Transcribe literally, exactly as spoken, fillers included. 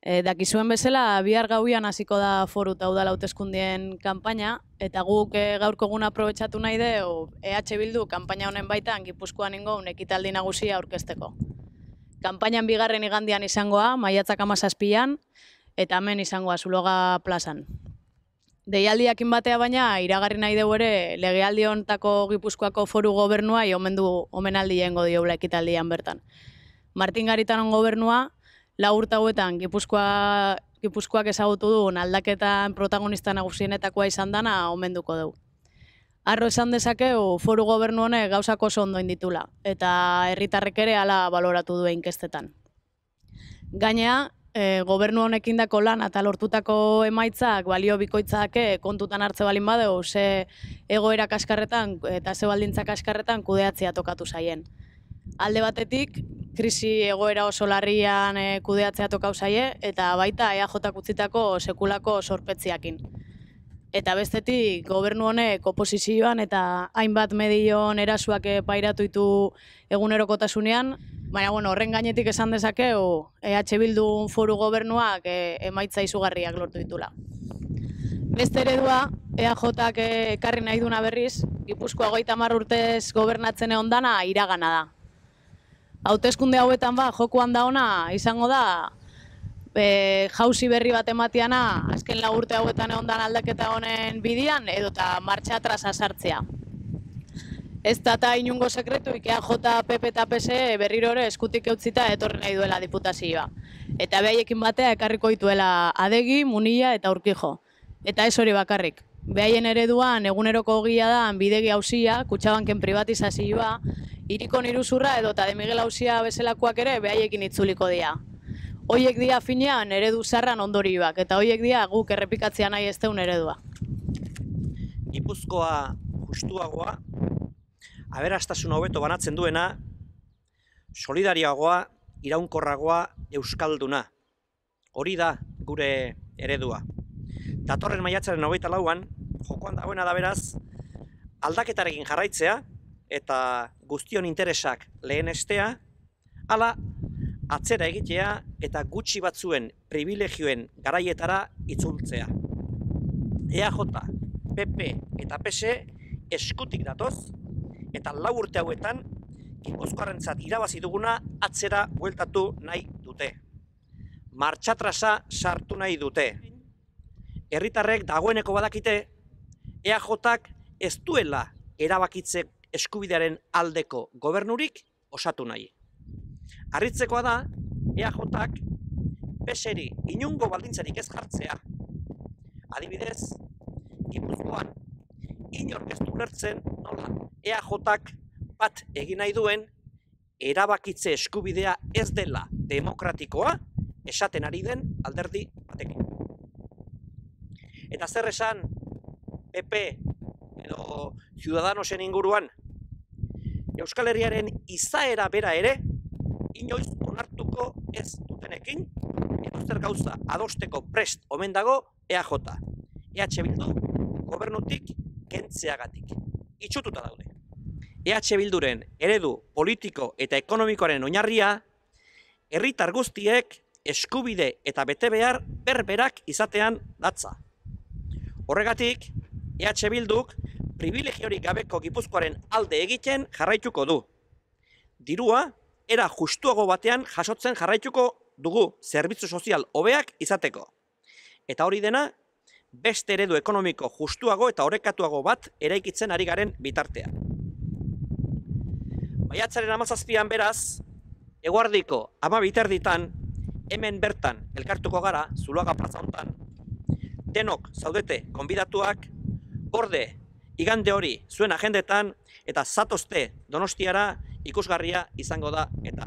E, dakizuen bezala, bihar gauian hasiko da foru eta udal hauteskundeen kanpaina, eta guk e, gaurko eguna aprobetxatu nahi du E H Bildu kanpaina honen baitan Gipuzkoan ingoun ekitaldi nagusia aurkezteko. Kanpainan bigarren igandian izangoa, maiatzak hamazazpian, eta hemen izangoa Zuloaga plazan. Deialdiakin batea baina, iragarri nahi dugu ere, legealdi hontako Gipuzkoako foru gobernua omendu omenaldi jengo dioula ekitaldian bertan. Martin Garitanon gobernua, lau urte hauetan Gipuzkoa, Gipuzkoak ezagutu duen aldaketan protagonista nagusienetakoa izan dana omenduko dugu. Arro esan dezakeu foru gobernu honek gauzak oso ondo inditula, eta herritarrek ere hala baloratu duen inkestetan. Gainea, e, gobernu honekin dako lan eta lortutako emaitzak balio bikoitzak kontutan hartze balin badeu, ze egoera kaskarretan eta ze baldintza kaskarretan kudeatzea tokatu zaien. Alde batetik, krisi egoera oso larrian e, kudeatzea tokau zaie, eta baita E A Jak utzitako sekulako sorpetziakin. Eta bestetik, gobernu honek oposizioan eta hainbat medion erasuak pairatu ditu egunerokotasunean, baina bueno, horren gainetik esan dezakeu E H Bildu foru gobernuak e, emaitza izugarriak lortu ditula. Beste eredua, E A Jak ekarri nahi duna berriz, Gipuzkoa hogeita hamar urtez gobernatzen egon dana iragana da. Hauteskunde hauetan ba, jokoan da ona izango da, e, jauzi berri bat ematiana, azken lau urte hauetan egon dan aldaketa honen bidian, edota martxa atrasa sartzea. Ez da eta inungo sekretu, E A J, P P eta P S E berriro ere eskutik eutzita etorri nahi duela diputazioa. Eta behaiekin batea ekarriko dituela Adegi, Munilla eta Urkijo. Eta ez hori bakarrik. Behaien ereduan eguneroko ogia da bidegi auzia, Kutxabanken privatizazioa, Hirikon iruzurra edota De Miguel auzia bezalakoak ere behaiekin itzuliko dira. Hoiek dira finean eredu zarran ondorioak, eta hoiek dira guk errepikatzea nahi ez deun eredua. Gipuzkoa justuagoa, aberastasun hobeto banatzen duena, solidarioagoa, iraunkorragoa, euskalduna. Hori da gure eredua. Datorren maiatzaren hogeita lauan, jokoan dagoena da beraz, aldaketarekin jarraitzea, eta guztion interesak lehenestea, hala atzera egitea eta gutxi batzuen privilegioen garaietara itzultzea. E A J, P P eta P S E eskutik datoz, eta lau urte hauetan Gipuzkoarrentzat irabazi duguna atzera bueltatu nahi dute. Martxatrasa sartu nahi dute. Herritarrek dagoeneko badakite, E A Jak ez duela erabakitze eskubidearen aldeko gobernurik osatu nahi. Harritzekoa da, E A Jak P S E-ri inungo baldintzarik ez jartzea. Adibidez, Gipuzkoan inork ez du ulertzen nola E A Jak bat egin nahi duen erabakitze eskubidea ez dela demokratikoa esaten ari den alderdi batekin. Eta zer esan P P edo Ciudadanosen inguruan, Euskal Herriaren izaera bera ere inoiz onartuko ez dutenekin, edozer gauza adosteko prest omen dago E A J. E H Bildu gobernutik kentzeagatik. Itxututa daude. E H Bilduren eredu politiko eta ekonomikoaren oinarria, herritar guztiek eskubide eta betebehar berberak izatean datza. Horregatik, E H Bilduk privilegiorik gabeko Gipuzkoaren alde egiten jarraituko du. Dirua, era justuago batean jasotzen jarraituko dugu zerbitzu sozial hobeak izateko. Eta hori dena, beste eredu ekonomiko justuago eta orekatuago bat eraikitzen ari garen bitartean. Maiatzaren hamazazpian beraz, eguardiko hamabi erditan, hemen bertan elkartuko gara, Zuloaga plaza hontan, denok zaudete gonbidatuak, gorde igande hori zuen agendetan, eta zatozte Donostiara ikusgarria izango da eta.